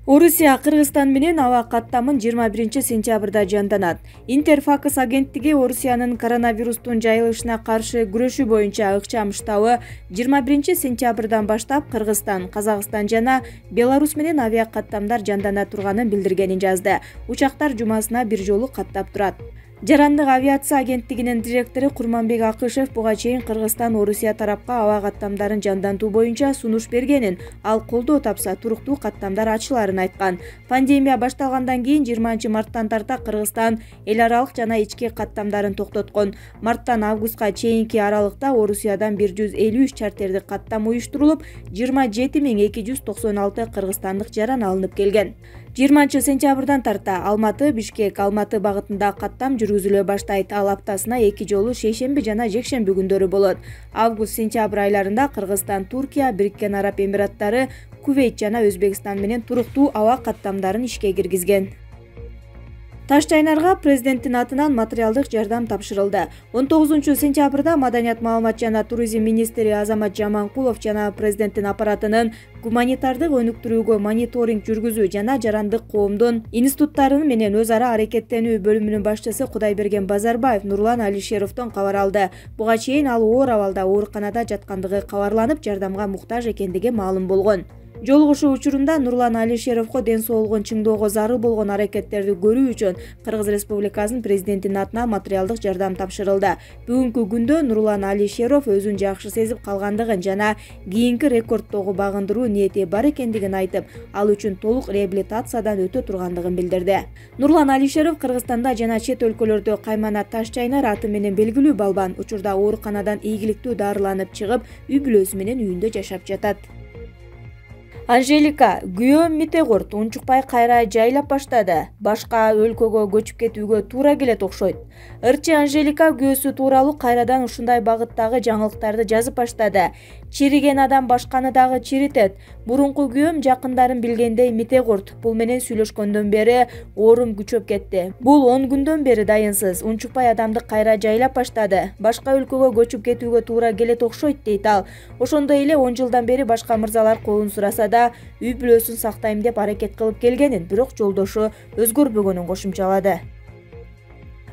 Орусия Кыргызстан менен аба каттамын 21-сентябрда жанданат. Интерфакс агенттиги Орусиянын коронавирустун жайылышына каршы күрөшүү боюнча ыкчам штабы 21-сентябрдан баштап Кыргызстан, Казакстан жана Беларусь менен авиа каттамдар жандана турганын билдиргенин жазды. Учактар жумасына бир жолу каттап турат. Жарандык авиация агенттигинин директору Курманбек Акышев буга чейин Кыргызстан Орусия тарапка аба каттамдарын жандантуу боюнча сунуш бергенин, ал колдоо тапса туруктуу каттамдар ачыларын айткан. Пандемия башталгандан кийин 20-марттан тарта Кыргызстан эл аралык жана ички каттамдарын токтоткон. Марттан августка чейинки аралыкта Орусиядан 153 чартердик каттам уюштурулуп, 27296 кыргызстандык жаран алынып келген. 20-сентябрдан тарта Алматы, Бишкек, Алматы багытында каттам жүргүзүлө баштайт. Ал аптасына 2 жолу шейшемби жана жекшемби күндөрү болот. Август-сентябрь айларында Кыргызстан, Туркия, Бириккен Араб Эмираттары, Кувейт жана Өзбекстан менен туруктуу аба каттамдарын ишке киргизген. Таш чайнарга президенттин атынан материалдык жардам тапшырылды. 19-сентябрда Маданият, маалымат жана туризм министри Азамат Жаманкулов жана президенттин аппаратынын гуманитардык өнүктүрүүгө мониторинг жүргүзүү жана жарандык коомдун институттары менен өз ара аракеттенүү бөлүмүнүн башчысы Кудайберген Базарбаев Нурлан Алишеровдон кабар алды. Буга чейин ал оор абалда ооруканада жаткандыгы кабарланып, жардамга муктаж экендиги маалым болгон. Жолугушуу учурунда Нурлан Алишеровго ден соолугун чыңдоого зарыл болгон аракеттерди көрүү үчүн Кыргыз Республикасынын президентинин атынан материалдык жардам тапшырылды. Бүгүнкү күндө Нурлан Алишеров өзүн жакшы сезип калгандыгын жана кийинки рекордтогу багындыруу ниети бар экендигин айтып, ал үчүн толук реабилитациядан өтө тургандыгын билдирди. Нурлан Алишеров Кыргызстанда жана чет өлкөлөрдө Каймана Таш чайнар аты менен белгилүү балбан учурда ооруканадан ийгиликтүү дарыланып чыгып, үй бүлөсү менен үйүндө жашап жатат. Анжелика күйөөм Митегорт унчукпай кайра жайлап баштады. Башка өлкөгө көчүп кетүүгө туура келет окшойт. Ырчы Анжелика күйөөсү тууралуу кайрадан ушундай багыттагы жаңылыктарды жазып баштады. Чириген адам башканы дагы чиритет. Мурунку күйөөм жакындарын билгендей Митегорт бул менен сүйлөшкөндөн бери оорум күчөп кетти. Бул 10 күндөн бери дайынсыз. Унчукпай адамды кайра жайлап баштады. Башка өлкөгө көчүп кетүүгө туура келет окшойт дейт ал. Ошондой эле 10 жылдан бери башка мырзалар колун сураса үй бүлөсүн сактайм деп аракет кылып келгенин, бирок жолдошу өзгөрбөгөнүн кошумчалады.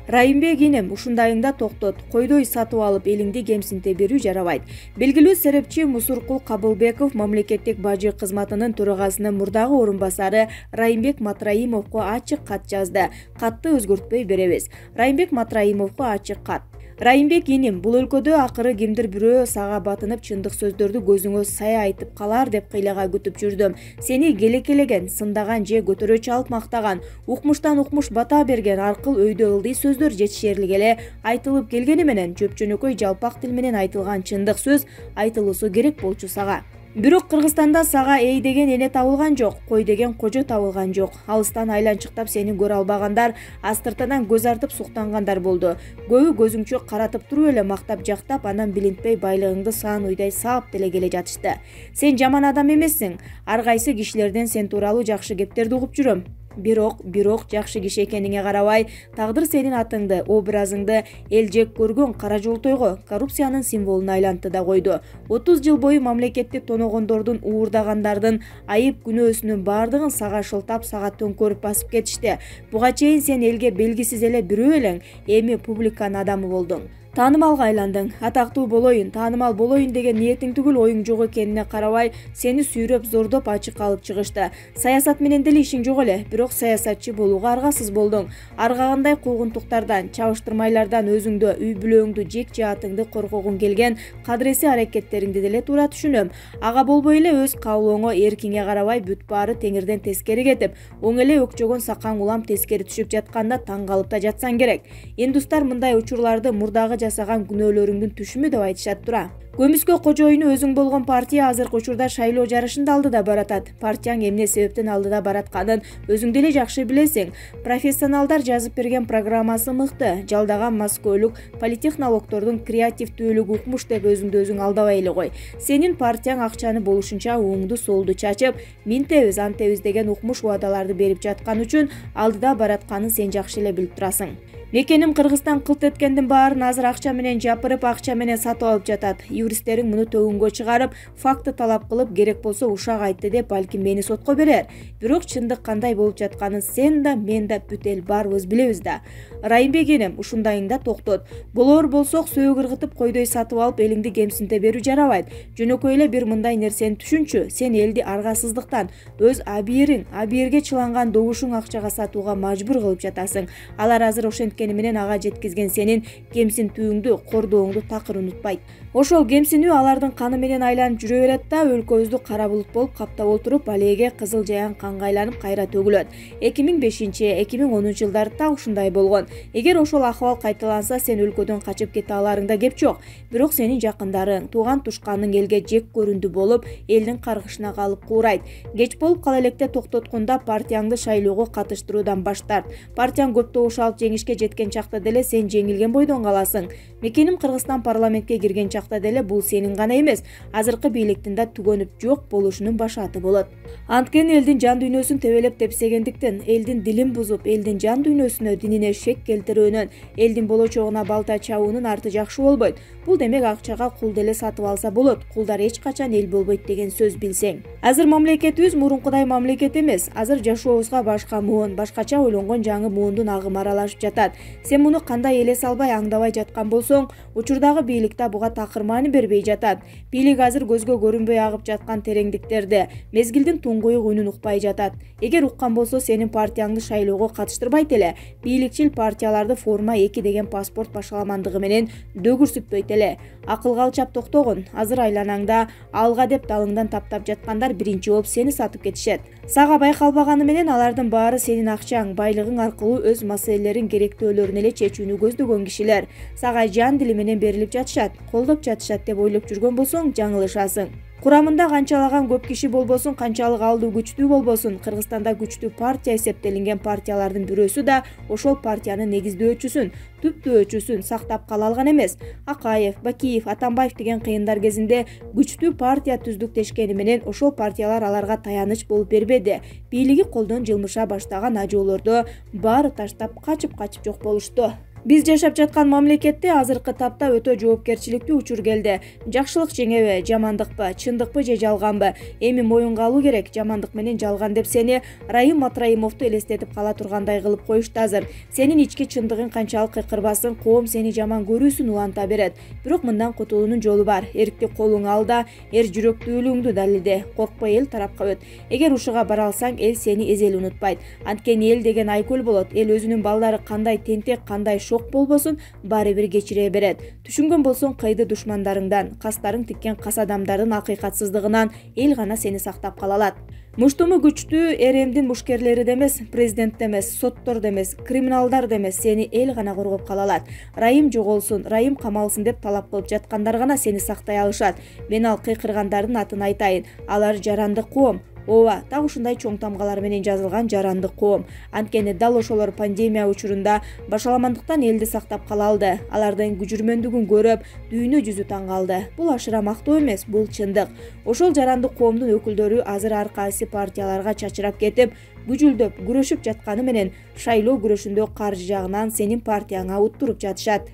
Райымбек инем ушундайыңда токтот, койдой сатып алып элиңди кемсинте берүү жарабайт. Белгилүү серепчи Мусуркул Кабылбеков мамлекеттик бажы кызматынын төрагасынын мурдагы орун басары Райымбек Матраимовго ачык кат жазды. Катты өзгөртпөй беребиз. Райымбек Матраимовго ачык кат. Райымбек иним, бул өлкөдө акыры кимдир бирөө сага батынып чындык сөздөрдү көзүңө сая айтып калар деп кыйлага күтүп жүрдүм. Сени келекелеген, сындаган же көтөрө чалып мактаган, укмуштан укмуш бата берген аркыл өйдө ылдый сөздөр жетишерлик эле айтылып келгени менен жөпчөнөкөй жалпак тил менен айтылган чындык сөз айтылуусу керек болчу сага. Бирок Кыргызстанда сага эй деген эне табылган жок, кой деген кожо табылган жок. Алыстан айланчыктап сени көрө албагандар, астыртадан көз артып суктангандар болду. Көбү көзүңчө каратып туруп эле мактап жактап, анан билинтпей байлыгыңды саан уйдай саап деле келе жатышты. Сен жаман адам эмессиң. Ар кайсы кишилерден сен тууралуу жакшы кептерди угуп жүрөм. Бирок жакшы киши экениңе карабай, тагдыр сенин атыңды, образыңды эл жек көргөн кара жолтойго, коррупциянын символуна айлантты да койду. 30 жыл бою мамлекетти тоногондордун, уурдагандардын айып күнөөсүнүн баардыгын сага шылтап, сага төңкөрүп басып кетишти. Буга чейин сен элге белгисиз эле бирөө элең, эми публиканын адамы болдуң. Таанымалга айландың. Атактуу болоюн, таанымал болоюн деген ниетиң түгүл оюң жок экенине карабай, сени сүйрөп, зордоп ачык алып чыгышты. Саясат менен деле ишиң жок эле, бирок саясатчы болууга аргасыз болдуң. Аргагандай куугунтуктардан, чабыштырмайлардан өзүңдү, үй бүлөңдү, жек жаатыңды коргогуң келген кадыреси аракеттериңди деле туура түшүнөм. Ага болбой эле өз каалооңо, эркиңе карабай бүт баары теңирден тескери кетип, оң эле өкчөгөн сакаң улам тескери түшүп жатканда таң калып да жатсаң керек. Индустар мындай учурларды мурдагы жасаган күнөөлөрүңдүн түшүмү деп айтышат тура. Көмүскө кожоюну өзүң болгон партия азыркы учурда шайлоо жарышында алдыда баратат. Партияң эмне себептен алдыда баратканын өзүң деле жакшы билесиң. Профессионалдар жазып берген программасы мыкты. Жалдаган маскөөлүк политехнологдордун креативдүүлүгү укмуш деп өзүңдү өзүң алдабай эле кой. Сенин партияң акчаны болушунча оңду солду чачып, минтебиз, антебиз деген укмуш убадаларды берип жаткан үчүн алдыда баратканын сен жакшы эле билип турасың. Мекеним Кыргызстан кылт эткендин баарын азыр акча менен жапырып, акча менен сатып алып жатат. юристтериң муну төгүнгө чыгарып, факты талап кылып, керек болсо ушак айтты деп балким мени сотко берер. Бирок чындык кандай болуп жатканын сен да, мен да, бүт эл баарыбыз билебиз да. Райымбек энем, ушундайыңда токтот. Болор болсок сөөк ыргытып койдой сатып алып элиңди кемсинте берүү жарабайт. Жөнөкөй эле бир мындай нерсени түшүнчү. Сен элди аргасыздыктан өз абийирге чыланган добушуң акчага сатууга мажбур кылып жатасың. Алар азыр ошенткени менен ага жеткизген сенин кемсинтүүңдү, кордооңду такыр унутпайт. Ошол кемсинүү алардын каны менен айланып жүрө берет да, өлкөбүздү кара булут болуп каптап отуруп, алеге кызыл жаян канга айланып кайра төгүлөт. 2005-2010 жылдары так ушундай болгон. Эгер ошол акыбал кайталанса, сен өлкөдөн качып кете аларыңда кеп жок. Бирок сенин жакындарың, тууган тушканың элге жек көрүндү болуп, элдин каргышына калып куурайт. Кеч болуп кала электе токтоткондо партияңды шайлоого катыштыруудан баш тарт. Партияң көп добуш алып жеңишке жеткен чакта деле сен жеңилген бойдон каласың. Мекеним Кыргызстан парламентке кирген чакта деле бул сенин гана эмес, азыркы бийликтин да түгөнүп жок болушунун башаты болот. Анткени элдин жан дүйнөсүн тебелеп тепсегендиктен, элдин дилин бузуп, элдин жан дүйнөсүнө, динине шек келтирүүнөн, элдин болочогуна балта чабуунун арты жакшы болбойт. Бул демек акчага кул деле сатып алса болот. Кулдар эч качан эл болбойт деген сөз билсең. Азыр мамлекетибиз мурункудай мамлекет эмес. Азыр жашообузга башка муун, башкача ойлонгон жаңы муундун агымы аралашып жатат. Сен муну кандай эле салбай, аңдабай жаткан болсоң, учурдагы бийлик да буга такыр маани бербей жатат. Бийлик азыр көзгө көрүнбөй агып жаткан тереңдиктерде, мезгилдин туңгуюк үнүн укпай жатат. Эгер уккан болсо, сенин партияңды шайлоого катыштырбайт эле. Бийликчил партияларды форма 2 деген паспорт башаламандыгы менен дөгүрсүтпөйт эле. Акылга алчап токтогон. Азыр айланаңда алга деп далыңдан таптап жаткандар биринчи болуп сени сатып кетишет. Сага байкалбаганы менен алардын баары сенин акчаң, байлыгың аркылуу өз маселелерин, керектөөлөрүн эле чечүүнү көздөгөн кишилер. Сага жан дили менен берилип жатышат, колдоп жатышат деп ойлоп жүргөн болсоң, жаңылышасың. Курамында канчалаган көп киши болбосун, канчалык алдуу күчтүү болбосун, Кыргызстанда күчтүү партия эсептелинген партиялардын бирөөсү да ошол партиянын негиздөөчүсүн, түптөөчүсүн сактап кала алган эмес. Акаев, Бакиев, Атамбаев деген кыйындар кезинде күчтүү партия түздүктешкени менен ошол партиялар аларга таяныч болуп бербеди. Бийлиги колдон жылмыша баштаган ажоолордо баары таштап качып жок болушту. Биз жашап жаткан мамлекетте азыркы тапта өтө жоопкерчиликтүү учур келди. Жакшылык жеңеби, жамандыкпы, чындыкпы же жалганбы? Эми моюнга алуу керек. Жамандык менен жалган деп сени Райым Матраимовду элестетип кала тургандай кылып коюшту азыр. Сенин ички чындыгың канчалык кыйкырбасын, коом сени жаман көрүүсүн уланта берет. Бирок мындан кутулуунун жолу бар. Эркти колуңа ал да, эр жүрөктүүлүгүңдү далилде. Коркпой эл тарапка өт. Эгер ушуга бара алсаң, эл сени эзели унутпайт. Анткени эл деген айкөл болот. Эл өзүнүн балдары кандай тентек, кандай шок болбосун, баары бир кечире берет. Түшүнгөн болсоң, кыйды душмандарыңдан, кастарың тиккен кас адамдардын акыйкатсыздыгынан эл гана сени сактап кала алат. Муштуму күчтүү РМдин мушкерлери демес, президент демес, соттор демес, криминалдар демес, сени эл гана коргоп кала алат. Райым жоголсун, Райым камалсын деп талап кылып жаткандар гана сени сактай алышат. Мен ал кыйкыргандардын атын айтайын. Алар жарандык коом. Ооба, так ушундай чоң тамгалар менен жазылган жарандык коом. Анткени дал ошолор пандемия учурунда башаламандыктан элди сактап кала алды. Алардын күжүрмөндүгүн көрүп, дүйнө жүзү таң калды. Бул ашыра мактоо эмес, бул чындык. Ошол жарандык коомдун өкүлдөрү азыр ар кайсы партияларга чачырап кетип, күжүлдөп, күрөшүп жатканы менен шайлоо күрөшүндө каржы жагынан сенин партияңа уттуруп жатышат.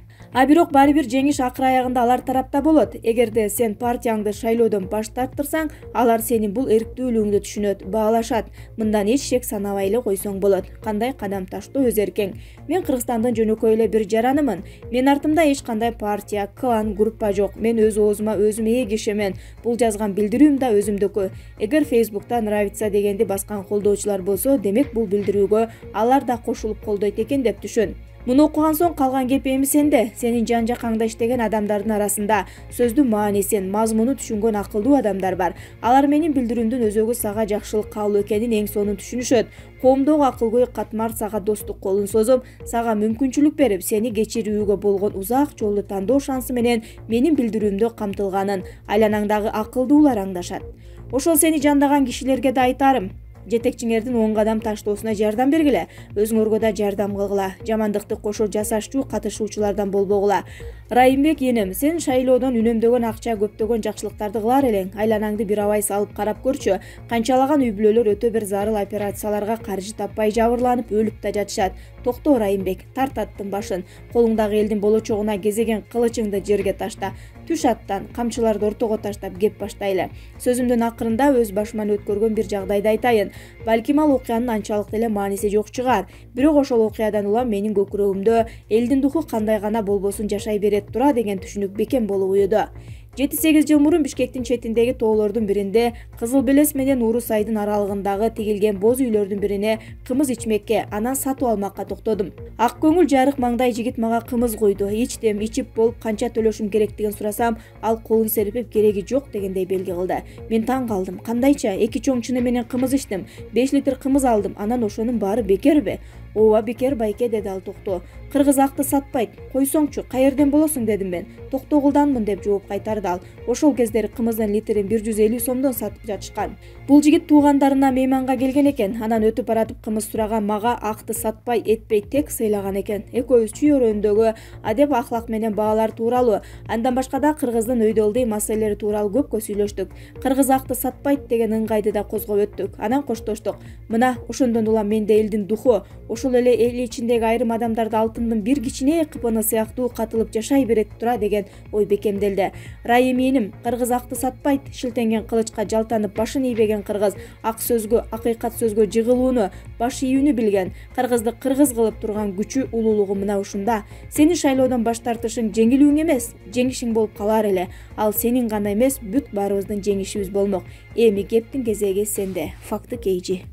Бирок баары бир жеңиш акыр аягында алар тарапта болот. Эгерде сен партияңды шайлоодон баш тарттырсаң, алар сенин бул эрктүүлүгүңдү түшүнөт, баалашат. Мындан эч шек санабай эле койсоң болот. Кандай кадам таштоо өз эркең. Мен Кыргызстандын жөнөкөй эле бир жаранымын. Мен артымда эч кандай партия, клан, группа жок. Мен өз оозума өзүм ээ кишимин. Бул жазган билдирүүм да өзүмдүкү. Эгер Facebook'та нравится дегенди баскан колдоочулар болсо, демек бул билдирүүгө алар да кошулуп колдойт экен деп түшүн. Муну окуган соң калган кеп эми сенде. Сенин жан-жакаңда иштеген адамдардын арасында сөздүн маанисин, мазмунун түшүнгөн акылдуу адамдар бар. Алар менин билдирүүмдүн өзөгү сага жакшылык каалоо экенин эң сонун түшүнүшөт. Коомдогу акылгөй катмар сага достук колун созуп, сага мүмкүнчүлүк берип, сени кечирүүгө болгон узак жолду тандоо шансы менен менин билдирүүмдө камтылганын айланаңдагы акылдуулар аңдашат. Ошол сени жандаган кишилерге да айтарым. Жетекчиңердин 10 кадам таштоосуна жардам бергиле, өзүңөргө да жардам кылгыла, жамандыкты кошо жасашчу катышуучулардан болбогула. Райымбек энем, сен шайлоодон үнөмдөгөн акча, көптөгөн жакшылыктарды кылар элең. Айланаңды бир абай салып карап көрчү. Канчалаган үй бүлөлөр өтө бир зарыл операцияларга каржы таппай жабырланып өлүп да жатышат. Токто Райымбек, тарт аттын башын. Колуңдагы элдин болочогуна кезеген кылычыңды жерге ташта. түш аттан, камчыларды ортого таштап кеп баштайлы. Сөзүмдүн акырында өз башыман өткөргөн бир жагдайды айтайын. Балким ал окуянын анчалык деле мааниси жок чыгар. Бирок ошол окуядан улам менин көкүрөгүмдө элдин духу кандай гана болбосун жашай берет тура деген түшүнүк бекем болуп уюду. 7-8 жыл мурун Бишкектин четиндеги тоолордун биринде Кызыл Белес менен Урус айдын аралыгындагы тигилген боз үйлөрдүн бирине кымыз ичмекке, анан сатып алмакка токтодум. Ак көңүл жарык маңдай жигит мага кымыз куйду. Ичтим, ичип болуп канча төлөшүм керектигин сурасам, ал колун серпип кереги жок дегендей белги кылды. Мен таң калдым. Кандайча 2 чоң чыны менен кымыз ичтим, 5 литр кымыз алдым. Анан ошонун баары бекерби? Ооба бекер байке, деди ал токтоо. Кыргыз акты сатпайт. Койсоңчу, каерден болосуң, дедим мен. Токтогулданмын, деп жооп кайтарды ал. Ошол кездери кымыздын литрин 150 сомдон сатып жатышкан. Бул жигит туугандарына мейманга келген экен. Анан өтүп баратып кымыз сураган мага акты сатпай, этпей тек сыйлаган экен. Экөөбүз чүйөрөндөгү адеп ахлак менен баалар тууралуу, андан башка да кыргыздын өйдө ылдый маселелери тууралуу көпкө сүйлөштүк. Кыргыз акты сатпайт деген ыңгайды да козгоп өттүк. Анан коштоштук. Мына ошондон улам менде элдин духу, ошол эле эл ичиндеги айрым адамдарды алтындын бир кичине кыпыны сыяктуу катылып жашай берет тура деген ой бекемделди. Райыминим, кыргыз акты сатпайт, шилтенген кылычка жалтанып башын ийбеген кыргыз, ак сөзгө, акыйкат сөзгө жыгылууну, баш ийүүнү билген, кыргызды кыргыз кылып турган күчү, улуулугу мына ушунда. Сени шайлоодон баш тартышың жеңилүүң эмес, жеңишиң болуп калар эле. Ал сенин гана эмес, бүт баарыбыздын жеңишибиз болмок. Эми кептин кезеги сенде. Факты Кейжи.